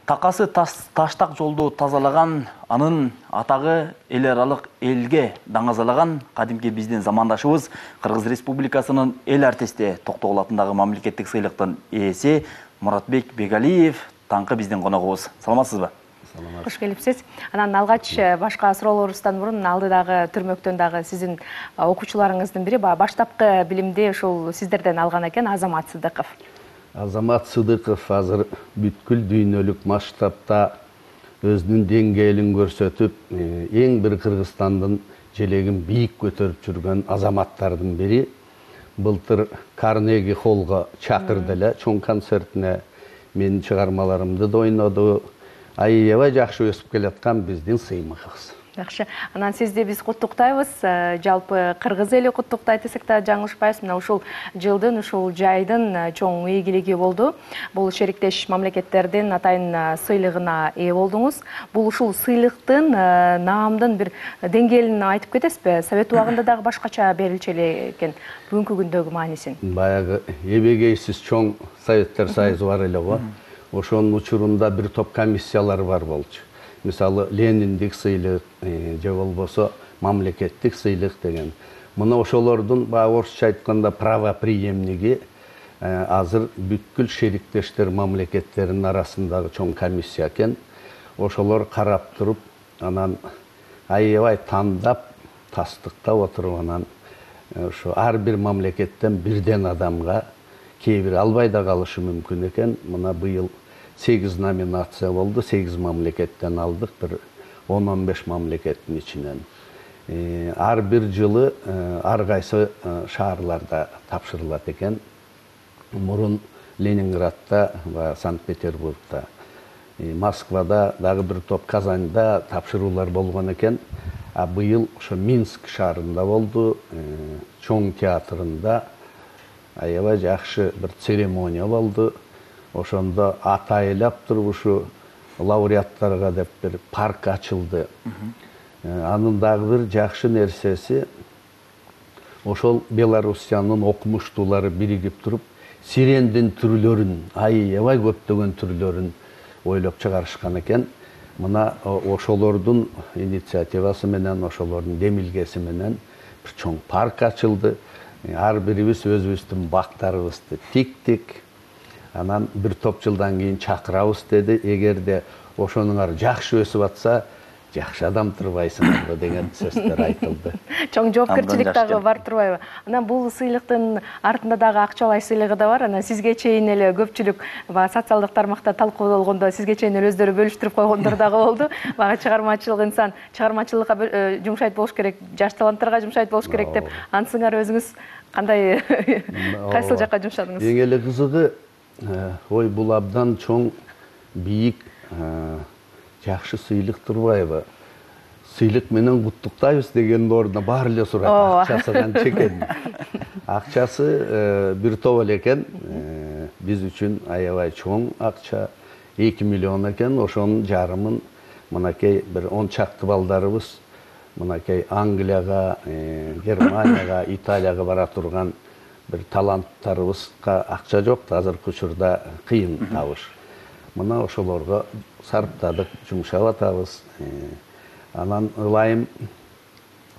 Такасы таштак жолду тазалаган, анын атагы эл аралык элге даңазалаган кадимки биздин замандашыбыз Кыргыз Республикасынын эл артисти Токтогул атындагы мамлекеттик сыйлыктын ээси Муратбек Бегалиев таңкы биздин коногубуз. Саламатсызбы? Кош келипсиз. Анан алгач башка суроолорубуздан мурун алдыдагы түрмөктөн дагы сиздин окуучуларыңыздын бири баштапкы билимди ушул сиздерден алган экен, Азамат Сыдыков. Азамат Сыдыков азыр бүткүл дүйнөлүк масштабта өзүнүн деңгээлин көрсөтүп, эң бир Кыргызстандын желегин бийик көтөрүп жүргөн азаматтардын бири. Былтыр Карнеги холлго чакырды эле, чоң концертине менин чыгармаларымды да ойноду. Аябай жакшы өсүп келаткан биздин сыймыгыбыз. Жакшы. Анан сизди биз куттуктайбыз. Жалпы Кыргыз эли куттуктайт десек да жаңылышпайбыз. Мына ушул жылдын, ушул жайдын чоң ийгилиги болду. Бул шериктеш мамлекеттердин атайын сыйлыгына ээ болдуңуз. Бул ушул сыйлыктын наамдын бир деңгээлин айтып кетесизби? Совет убагында дагы башкача берилчү эле экен. Бүгүнкү күндөгү маанисин. Баягы эбегейсиз чоң Советтер Союзу бар эле го. Ошонун учурунда бир топ комиссиялар бар болчу. Мисалы Лениндик сыйлык же болбосо мамлекеттик сыйлык деген. Мына ошолордун орусча айтканда правоприемниги азыр бүткүл шериктештер мамлекеттеринин арасындагы чоң комиссия экен. Ошолор карап туруп, анан аябай тандап, тастыктап отуруп, анан ошо ар бир мамлекеттен бирден адамга, кээ бир албай да калышы мүмкүн экен. Мына быйыл 8 номинация болду, 8 мамлекеттен алдык, бир 10-15 мамлекеттин ичинен. Ар бир жылы ар кайсы шаарларда тапшырылат экен. Мурун Ленинградта ва Санкт-Петербургда, Москвада, дагы бир топ Казанда тапшыруулар болгон экен. А быйыл ошо Минск шаарында болду, чоң театрында аябай жакшы бир церемония болду. Ошондо атайлап туруп ушу лауреаттарга деп бир парк ачылды. Анын дагы бир жакшы нерсеси, ошол Белоруссиянын окумуштуулары биригип туруп, сирендин түрлөрүн, аябай көптөгөн түрлөрүн ойлоп чыгарышкан экен. Мына ошолордун инициативасы менен, ошолордун демилгеси менен бир чоң парк ачылды. Ар бирибиз өзүбүздүн бактарыбызды тиктик. Анан бир топ жылдан кийин чакырабыз деди. Эгерде ошонуңар жакшы өсүп атса, жакшы адам турбайсыңар деген сөздөр айтылды. Чоң жоопкерчилик дагы бар турбайбы? Анан бул сыйлыктын артында дагы акчалай сыйлыгы да бар. Анан сизге чейин эле көпчүлүк социалдык тармакта талкуулангондо сизге чейин эле өздөрү бөлүштүрүп койгондор дагы болду. Бага чыгармачылык инсан чыгармачылыкка жумшайт болуш керек, жаш таланттарга жумшайт болуш керек деп, ансыңар өзүңүз кандай кайсыл жакка жумшадыңыз? Эң эле кызыгы, ой, бул абдан чоң, бийик, жакшы сыйлык турбайбы? Сыйлык менен куттуктайбыз дегендин ордуна баары эле сурайт. Акчасы канча экен? Акчасы бир топ эле экен. Биз үчүн аябай чоң акча, 2 миллион экен. Ошонун жарымын мынакей бир 10 чакты балдарыбыз мынакей Англияга, Германияга, Италияга бара турган бир таланттарыбызга акча жок, азыркы учурда кыйын табыш. Мына ошолорго сарптадык, жумшап атабыз. Анан ылайым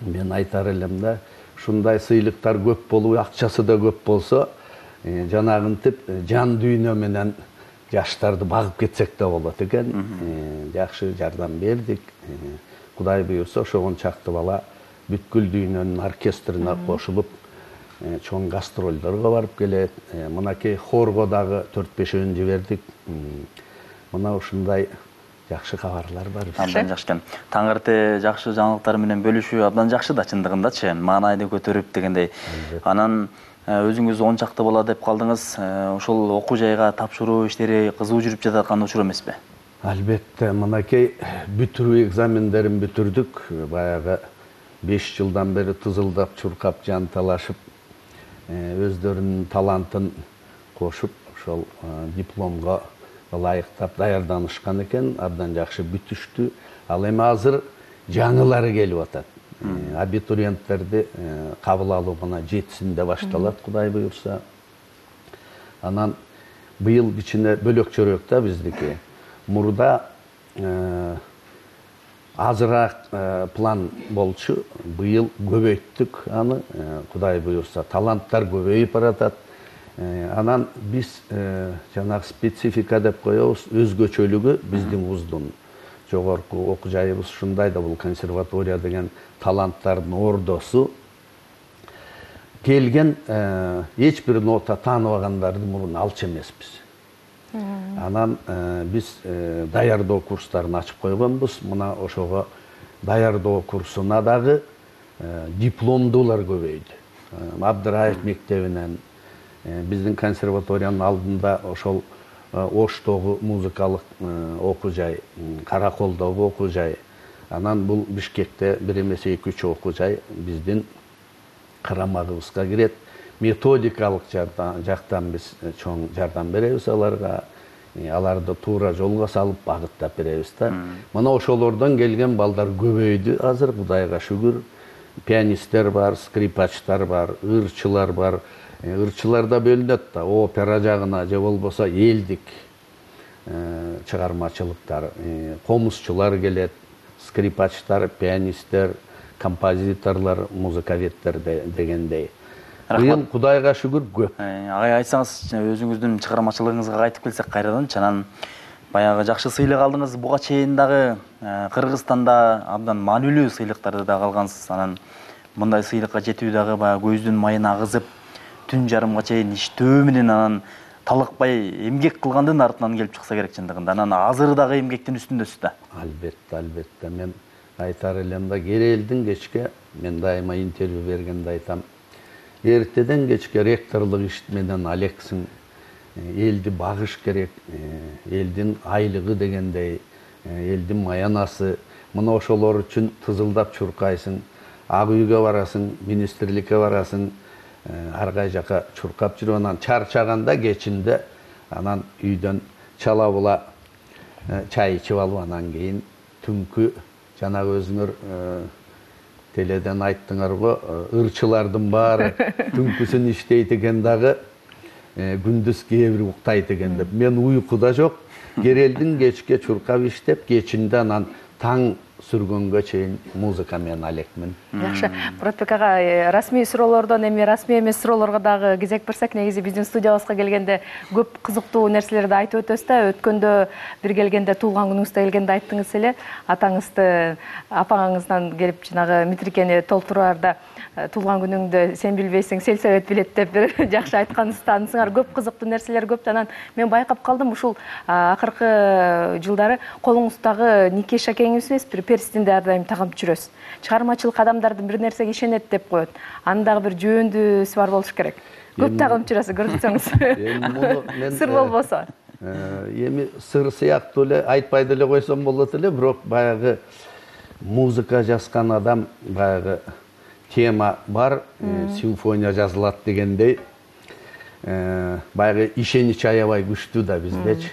мен айтар элем да, ушундай сыйлыктар көп болуп, акчасы да көп болсо, жанагынтип жан дүйнө менен жаштарды багып кетсек да болот экен. Жакшы жардам бердик. Кудай буйрса, ошо 10 чакты бала бүткүл дүйнөнүн оркестрине кошулуп, чоң гастролдорго барып келет. Мынакей хорго дагы 4-5 жибердик. Мына ушундай жакшы кабарлар бар. Абдан жакшы экен. Таңырты жакшы жаңылыктар менен бөлүшүү абдан жакшы да, чындыгындачы, маанайды көтөрүп дегендей. Анан өзүңүз 10 чакты бала деп калдыңыз. Ошол окуу жайга тапшыруу иштери кызуу жүрүп жататкан учур эмеспи? Албетте, мынакей бүтүрүү экзамендерин бүтүрдүк. Баягы 5 жылдан бери тызылдап, чуркап, жанталашып, өздөрүнүн талантын кошуп, ошол дипломго ылайыктап даярданышкан экен. Абдан жакшы бүтүштү. Ал эми азыр жаңылары келип атат. Абитуриенттерди кабыл алуу мына 7-синде башталат, Кудай буйрса. Анан быйыл кичине бөлөкчөрөөк да биздики. мурда азыраак план болчу. Быйыл көбөйттүк аны. Кудай буюрса, таланттар көбөйүп баратат. Анан биз жанагы специфика деп коебуз, өзгөчөлүгү биздин вуздун жогорку окуу жайыбыз ушундай да, бул консерватория деген таланттардын ордосу. Келген эч бир нота тааныбагандарды мурун алчу эмеспиз. Анан биз даярдоо курстарын ачып койгонбуз. Мына ошого даярдоо курсуна дагы дипломдуулар көбөйдү. Абдыраев мектебинен, биздин консерваториянын алдында ошол Оштогу музыкалык окуу жай, Караколдогу окуу жай, анан бул Бишкекте бир эмес 2-3 окуу жай биздин карамагыбызга кирет. Методикалык жактан биз чоң жардам беребиз аларга. Аларды туура жолго салып багыттап беребиз да. Мына ошолордон келген балдар көбөйдү азыр, Кудайга шүгүр. Пианисттер бар, скрипачтар бар, ырчылар бар. Ырчылар да бөлүнөт да, опера жагына же болбосо элдик чыгармачылыктар, комузчулар келет, скрипачтар, пианисттер, композиторлор, музыковедтер дегендей. Быйыл Кудайга шүгүр көп. Агай, айтсаңыз, өзүңүздүн чыгармачылыгыңызга кайтып келсек кайрадан, анан баягы жакшы сыйлык алдыңыз, буга чейин дагы Кыргызстанда абдан маанилүү сыйлыктарды да алгансыз. Анан мындай сыйлыкка жетүү дагы баягы көздүн майын агызып, түн жарымга чейин иштөө менен анан талыкпай эмгек кылгандын артынан келип чыкса керек чындыгында. Анан азыр дагы эмгектин үстүндөсүз да. Албетте. Мен айтар элем да, керелдин кечке, мен дайыма интервью бергенде айтам, эртеден кечке ректорлук иш менен алексиң, элди багыш керек, элдин айлыгы дегендей, элдин маянасы. Мына ошолор үчүн тызылдап чуркайсың, ак үйгө барасың, министрликке барасың, ар кай жака чуркап жүрүп, анан чарчаганда кечинде анан үйдөн чала була чай ичип алып, анан кийин түнкү жанагы өзүңөр теледен айттыңар го, ырчылардын баары түнкүсүн иштейт экен дагы, күндүз кээ бир уктайт экен деп. Мен уйкуда жок, керелдин кечке чуркап иштеп, кечинде анан таң сүргөнгө чейин музыка менен алекмин. Жакшы. Муратбек ага, расмий суроолордон эми расмий эмес суроолорго дагы кезек берсек, негизи биздин студиябызга келгенде көп кызыктуу нерселерди айтып өтөбүз да. Өткөндө бир келгенде, туулган күнүңүздө келгенде айттыңыз эле, атаңызды, апаңыздан келип жанагы метрикени толтураарда туулган күнүңдө сен билбейсиң, сельсовет билет деп бир жакшы айтканыңызды таанысыңар. Көп кызыктуу нерселер көп. Анан мен байкап калдым, ушул акыркы жылдары колуңуздагы нике шакеңиз эмес, бир перстинде ар дайым тагып жүрөсүз. Чыгармачылык адамдардын бир нерсеге ишенет деп коет. Анын дагы бир жөөндүүсү бар болуш керек. Көп тагып жүрөсүз, көрсөтсөңүз. Сыр болбосо. Эми сыр сыяктуу эле айтпай деле койсом болот эле, бирок баягы музыка жазган адам баягы тема бар, симфония жазылат дегендей, баягы ишенич аябай күчтүү да биздечи.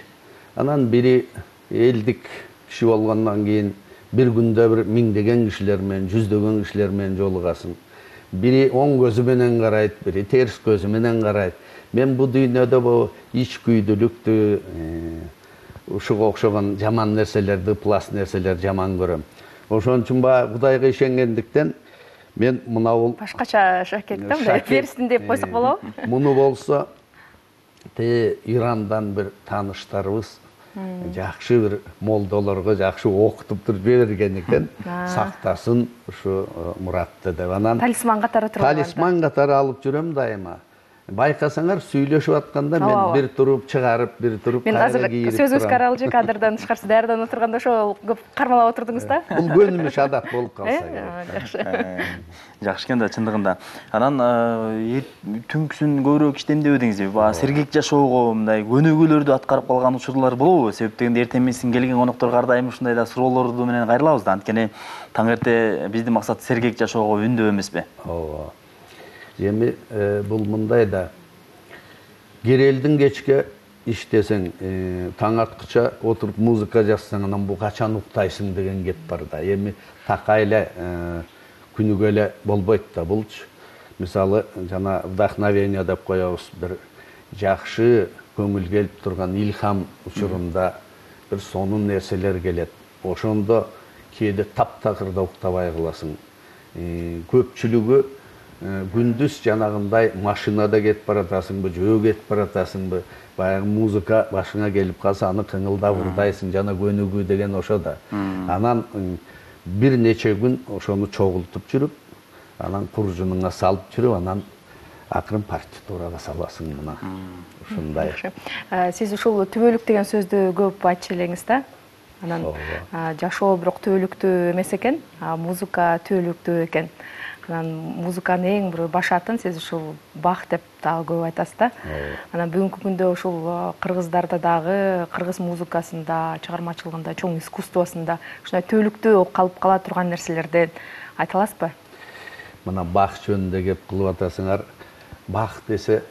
Анан бири элдик киши болгондон кийин бир күндө бир миңдеген кишилер менен, жүздөгөн кишилер менен жолугасың. Бири оң көзү менен карайт, бири терс көзү менен карайт. Мен бу дүйнөдө бу ич күйдүлүктү, ушуга окшогон жаман нерселерди, плас нерселерди жаман көрөм. Ошон үчүн баягы Кудайга ишенгендиктен мен мына бул башкача шакек да, мындай перстин деп койсок болобу? Муну болсо Ирандан бир тааныштарыбыз жакшы бир молдолорго жакшы окутуп туруп жибергендиктен сактасын ушу Муратты деп. Анан талисман катары туруп. Талисман катары алып жүрөм дайыма. Байкасаңар сүйлөшүп атканда мен бир туруп чыгарып, бир туруп кайра кийирип. Мен азыр сөзүбүз каралжы, кадрдан тышкарсы даярданып отурганда ошол көп кармалап отурдуңуз да? Бул көнүмүш адат болуп калса керек. Жакшы. Жакшы экен да, чындыгында. Анан түнкүсүн көбүрөөк иштемдеп эдиңизби? Баа сергек жашоого мындай көнүгүүлөрдү аткарып калган учурлар болобу? Себеп дегенде эртең менен келген конокторго ар дайым ушундай да суроолорду менен кайрылабыз да. Анткени таң эрте биздин максат сергек жашоого үндөө эмеспи? Ооба. Эми бул мындай да, керелдин кечке иштесең, таң аткыча отуруп музыка жазсаң, анан бу качан уктайсың деген кеп бар да. Эми такай эле күнүгө эле болбойт да булчу. Мисалы, жана вдохновение деп коебуз, бир жакшы көңүл келип турган илхам учурунда бир сонун нерселер келет. Ошондо кээде таптакырда уктабай каласың. Көпчүлүгү күндүз жанагындай машинада кетип баратасыңбы, жөө кетип баратасыңбы, баягы музыка башыңа келип калса аны кыңылдап ырдайсың, жана көнүгүү деген ошо да. Анан бир нече күн ошону чогултуп жүрүп, анан куржунуңа салып жүрүп, анан акырын партитурага саласың мына. Ушундай. Сиз ушул түбөлүк деген сөздү көп айтчу элеңиз да. Анан жашоо бирок түбөлүктүү эмес экен, музыка түбөлүктүү экен. Анан музыканын эң бир башатын сиз ушул бах деп дагы көп айтасыз да. Анан бүгүнкү күндө ушул кыргыздарда дагы кыргыз музыкасында, чыгармачылыгында, чоң искусствосунда ушундай түбөлүктүү калып кала турган нерселерден айта аласызбы? Мына бах жөнүндө кеп кылып атасыңар. Бах десе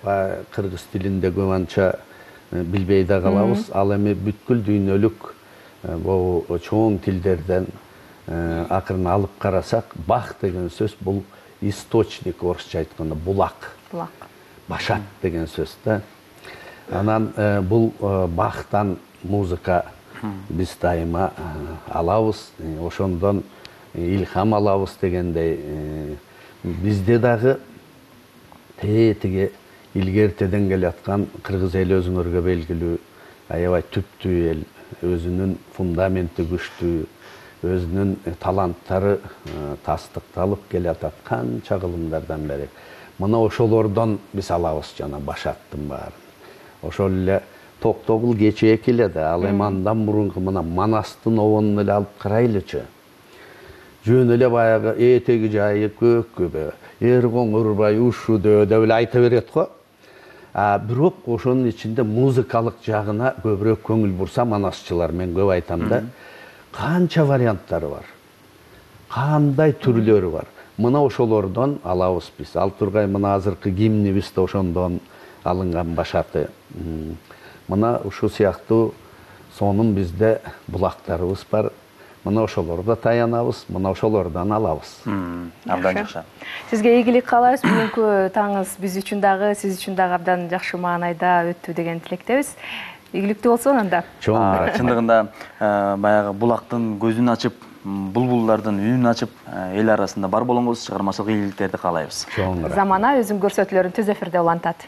кыргыз тилинде көп анча билбей да калабыз. Ал эми бүткүл дүйнөлүк бул чоң тилдерден акырын алып карасак, бах деген сөз бул источник, орусча айтканда булак. Башат деген сөз да. Анан бул бахтан музыка биз дайыма алабыз, ошондон илхам алабыз дегендей. Бизде дагы тетиги илгертеден келаткан кыргыз эли өзүңөргө белгилүү аябай түптүү эл, өзүнүн фундаменти күчтүү, өзүнүн таланттары тастыкталып келатат канча кылымдардан бери. Мына ошолордон биз алабыз жана башаттын баарын. Ошол эле Токтогул кечээки эле да, ал эми андан мурунку мына Манастын обонун эле алып карайлычы. Жөн эле баягы этеги жайы көк көбө, Эргоңурбай ушудө деп эле айта берет го. Бирок ошонун ичинде музыкалык жагына көбүрөөк көңүл бурса манасчылар, мен көп айтам да, канча варианттары бар, кандай түрлөрү бар. Мына ошолордон алабыз биз. Ал тургай мына азыркы гимнибиз да ошондон алынган башаты. Мына ушул сыяктуу сонун бизде булактарыбыз бар. Мына ошолордо таянабыз, мына ошолордон алабыз. Абдан жакшы. Сизге ийгилик каалайбыз. Бүгүнкү таңыңыз биз үчүн дагы, сиз үчүн дагы абдан жакшы маанайда өттү деген тилектебиз. Ийгиликтүү болсун анда. Чоң рахмат. Чындыгында баягы булактын көзүн ачып, булбулдардын үнүн ачып, эл арасында бар болуңуз, чыгармачылык ийгиликтерди каалайбыз. Чоң рахмат. Замана өзүн көрсөтүүлөрүн түз эфирде улантат.